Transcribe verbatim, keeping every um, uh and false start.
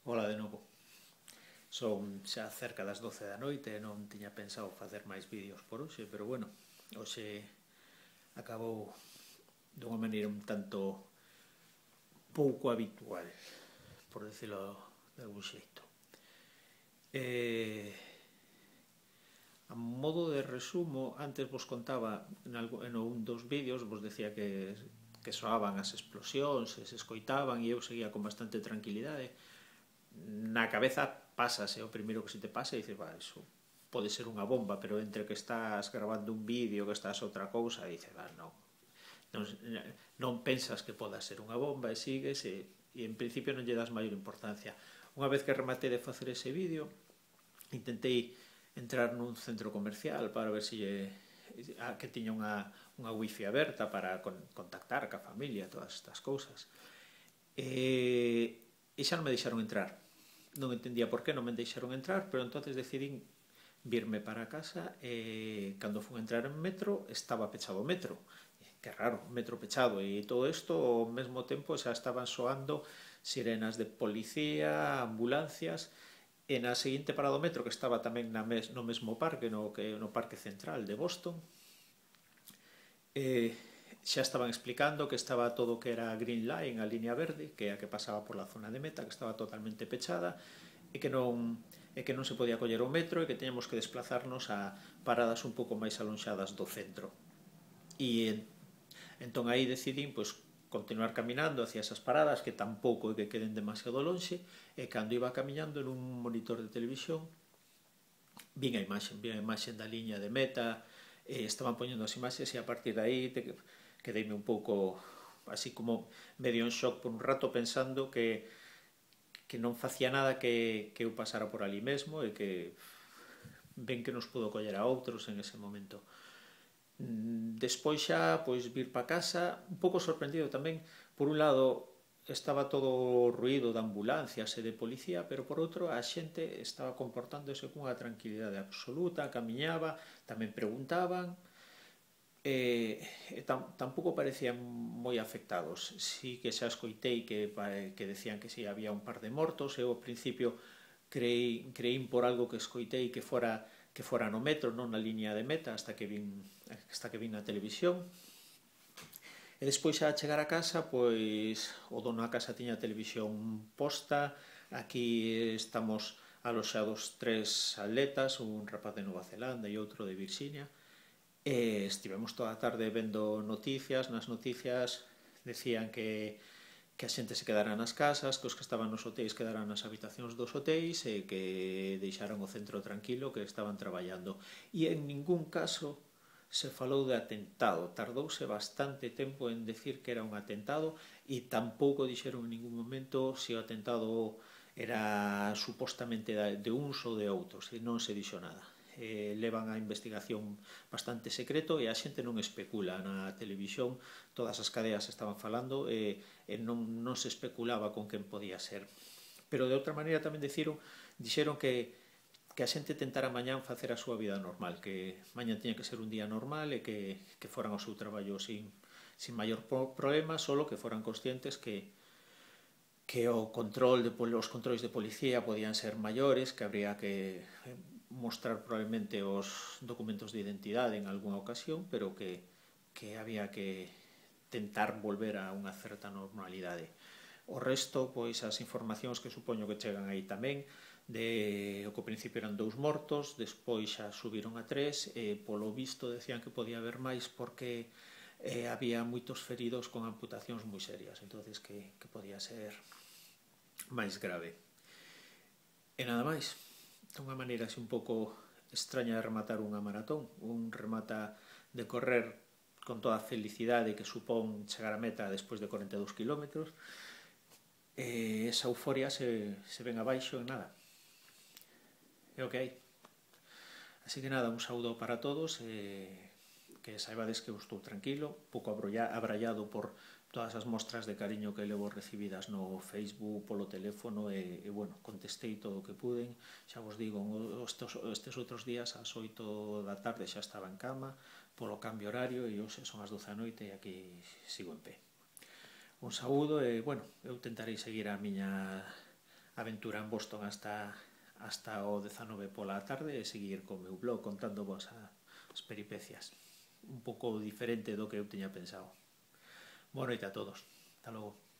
Ola de novo. Son xa cerca das doce da noite e non tiña pensado facer máis vídeos por hoxe, pero bueno, hoxe acabou dunha maneira un tanto pouco habitual, por decirlo de algún xeito. Eh, a modo de resumo, antes vos contaba en, algo, en un dos vídeos, vos decía que, que soaban as explosións, se escoitaban e eu seguía con bastante tranquilidade. Na cabeza pásase, o primeiro que se te pasa e dices, va, iso pode ser unha bomba, pero entre que estás grabando un vídeo, que estás outra cousa, dices, va, non, non, non pensas que poda ser unha bomba e sigues e, e en principio non lle das maior importancia. Unha vez que rematei de facer ese vídeo, intentei entrar nun centro comercial para ver se lle, a, que tiña unha, unha wifi aberta para con, contactar ca familia, todas estas cousas. E, e xa non me deixaron entrar. Non entendía por qué non me deixaron entrar, pero entonces decidín virme para casa e cando fun entrar en metro estaba pechado o metro. Que raro, metro pechado, e todo isto ao mesmo tempo xa estaban soando sirenas de policía, ambulancias, e na seguinte parada do metro, que estaba tamén na mes, no mesmo parque, no, que, no Parque Central de Boston, eh, xa estaban explicando que estaba todo que era Green Line, a línea verde, que é a que pasaba por la zona de meta, que estaba totalmente pechada e que non e que non se podía coller o metro e que teníamos que desplazarnos a paradas un pouco máis alonxadas do centro. E entón aí decidín pois, continuar caminando hacia esas paradas que tampouco é que queden demasiado lonxe, e cando iba camiñando en un monitor de televisión vin a imaxe, vin a imaxe da liña de meta, e estaban poñendo as imaxes e a partir de aí te, quedeime un pouco así como medio en shock por un rato pensando que que non facía nada que, que eu pasara por ali mesmo e que ben que nos pudo coller a outros en ese momento. Despois xa, pois, vir para casa, un pouco sorprendido tamén. Por un lado, estaba todo o ruído de ambulancias e de policía, pero por outro, a xente estaba comportándose cunha tranquilidade absoluta, camiñaba, tamén preguntaban, e, e tam, tampouco parecían moi afectados. Si que xa escoitei que, que decían que si había un par de mortos. Eu ao principio creí, creín por algo que escoitei que fora que fora no metro, non na línea de meta, hasta que vin hasta que vin na televisión. E despois xa a chegar a casa, pois o dono da casa tiña a televisión posta. Aquí estamos aloxados tres atletas, un rapaz de Nova Zelanda e outro de Virxinia. E estivemos toda a tarde vendo noticias. Nas noticias decían que que a xente se quedara nas casas, que os que estaban nos hotéis quedaran nas habitacións dos hotéis e que deixaran o centro tranquilo, que estaban traballando. E en ningún caso se falou de atentado. Tardouse bastante tempo en decir que era un atentado e tampouco dixeron en ningún momento se o atentado era supostamente de uns ou de outros, e non se dixo nada. Eh, levan a investigación bastante secreto e a xente non especula. Na televisión todas as cadeas estaban falando e, e non, non se especulaba con quen podía ser. Pero de outra maneira tamén dixeron, dixeron que, que a xente tentara mañán facer a súa vida normal, que mañán tiña que ser un día normal e que, que foran ao seu traballo sin, sin maior problema, solo que foran conscientes que que o control de, os controis de policía podían ser maiores, que habría que mostrar probablemente os documentos de identidade en algunha ocasión, pero que, que había que tentar volver a unha certa normalidade. O resto, pois as informacións que supoño que chegan aí tamén, de o que ao principio eran dous mortos, despois xa subiron a tres, e polo visto decían que podía haber máis porque eh, había moitos feridos con amputacións moi serias, entonces que, que podía ser máis grave. E nada máis, unha maneira así un pouco extraña de rematar unha maratón. Un remata de correr con toda a felicidade que supón chegar a meta despois de corenta e dous kilómetros, e esa euforia se, se ven abaixo en nada. É o que hai. Así que nada, un saúdo para todos, e que saibades que eu estou tranquilo, pouco abrallado por todas as mostras de cariño que levo recibidas no Facebook, polo teléfono, e, e bueno, contestei todo o que puden. Xa vos digo, estes, estes outros días ás oito da tarde xa estaba en cama polo cambio horario, e hoxe son as doce da noite e aquí sigo en pé. Un saúdo e, bueno, eu tentarei seguir a miña aventura en Boston hasta, hasta o dezanove pola tarde e seguir co meu blog contando vos as peripecias. Un pouco diferente do que eu tiña pensado. Boa noite a todos. Hasta logo.